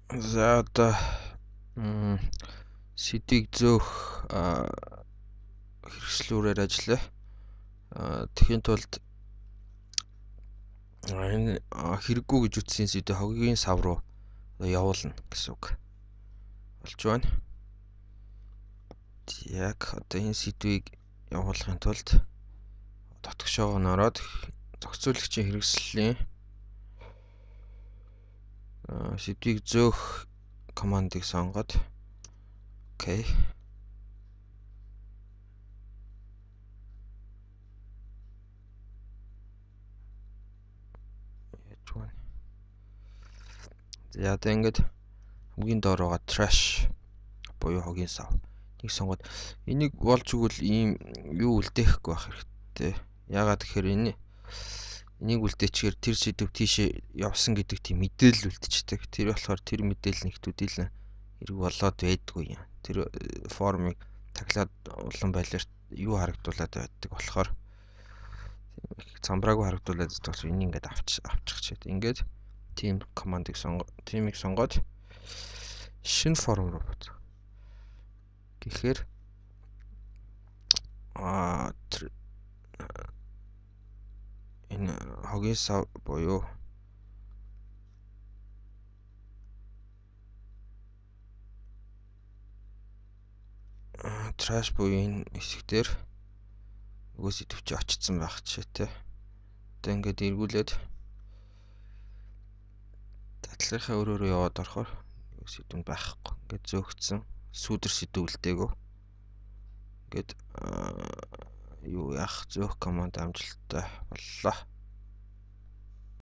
За одоо сэдвийг зөөх хэрэгслүүрээр ажиллая. Тэхийн тулд энэ хэрэггүй гэж үтсэн сэдв хогийн сав руу явуулна гэсэн үг болж байна. Яг одоо энэ сэдвийг явуулахын тулд дотгошоогоо ороод зохицуулагчийн хэрэгслийн сэдвийг зөөх командыг сонгоод окей. За одоо ингээд хамгийн доор байгаа trash буюу хогийн сав нэг сонгоод энийг болж игэл ийм юу үлдээхгүй байх хэрэгтэй. Ягаад гэхээр энийг үлдээчихээр тэр сэдв тийшээ явсан гэдэг тийм мэдээлэл үлдчихдэг. Тэр болохоор тэр мэдээлэл нэгтүүдийг л хэрэг болоод байдгүй юм. Тэр формыг таглаад улан байлаарт юу харагдуулаад байдаг болохоор цамбраагүй харагдуулаад байгаа учраас энийг ингээд авчих чад. Ингээд team командыг team-ийг сонгоод шинэ форм руу бод. Гэхээр энэ хогийн сав буюу trash буюу энэ хэсгээр нөгөө сэдв чи очсон байх жишээтэй. Одоо ингээд эргүүлээд дадлгынхаа өрөөрөө яваад орохоор сэдв нь байхгүй. Ингээд зөөгцсөн сүүдэр сэдв үлдээгөө. Ингээд юу яах зөөх команд амжилттай боллоо.